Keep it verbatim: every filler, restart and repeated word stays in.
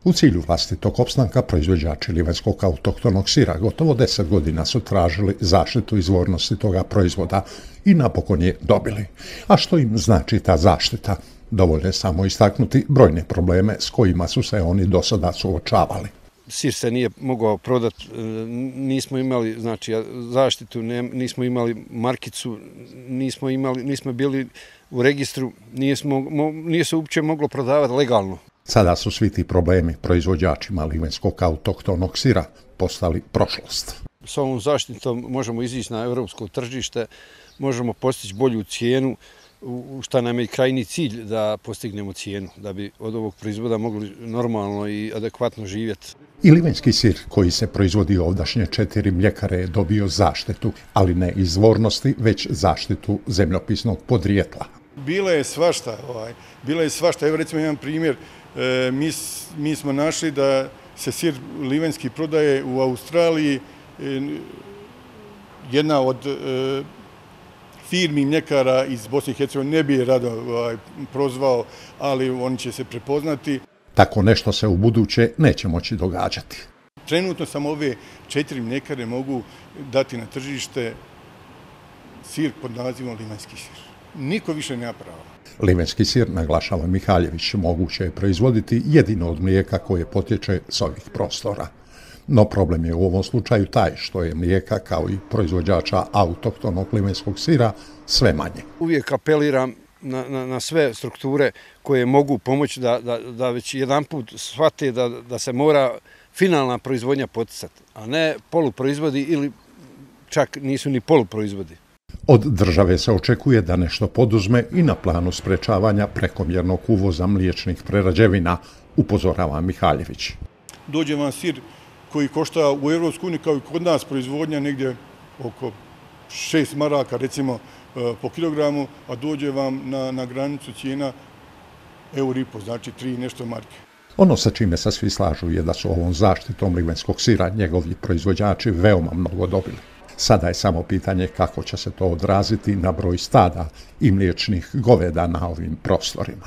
U cilju vlastitog opstanka proizvođači livanjskog autohtonog sira gotovo deset godina su tražili zaštitu izvornosti toga proizvoda i napokon je dobili. A što im znači ta zaštita? Dovoljno je samo istaknuti brojne probleme s kojima su se oni do sada suočavali. Sir se nije mogao prodati, nismo imali znači, zaštitu, nismo imali markicu, nismo, imali, nismo bili u registru, nismo, nije se uopće moglo prodavati legalno. Sada su svi ti problemi proizvođačima livanjskog autohtonog sira postali prošlost. S ovom zaštitom možemo izići na europsko tržište, možemo postići bolju cijenu, u šta nam je krajnji cilj da postignemo cijenu, da bi od ovog proizvoda mogli normalno i adekvatno živjeti. I livanjski sir koji se proizvodi ovdašnje četiri mljekare je dobio zaštitu, ali ne izvornosti, već zaštitu zemljopisnog podrijetla. Bilo je svašta, ovaj, bilo je svašta. Evo recimo jedan primjer, e, mi, mi smo našli da se sir livanjski prodaje u Australiji, e, jedna od e, firmi mljekara iz Bosne i Hercegovine, ne bi je rado ovaj, prozvao, ali oni će se prepoznati. Tako nešto se u buduće neće moći događati. Trenutno samo ove četiri mljekare mogu dati na tržište sir pod nazivom livanjski sir. Niko više nema prava. Livanjski sir, naglašava Mihaljević, moguće je proizvoditi jedino od mlijeka koje potječe s ovih prostora. No problem je u ovom slučaju taj što je mlijeka, kao i proizvođača autohtonog livanjskog sira, sve manje. Uvijek apeliram na, na, na sve strukture koje mogu pomoći da, da, da već jedan put shvate da, da se mora finalna proizvodnja poticati, a ne poluproizvodi ili čak nisu ni poluproizvodi. Od države se očekuje da nešto poduzme i na planu sprečavanja prekomjernog uvoza mliječnih prerađevina, upozorava Mihaljević. Dođe vam sir koji košta u Europskoj uniji kao i kod nas proizvodnja negdje oko šest maraka recimo po kilogramu, a dođe vam na, na granicu cijena euro i po, znači tri nešto marke. Ono sa čime se svi slažu je da su ovom zaštitom livanjskog sira njegovi proizvođači veoma mnogo dobili. Sada je samo pitanje kako će se to odraziti na broj stada i mliječnih goveda na ovim prostorima.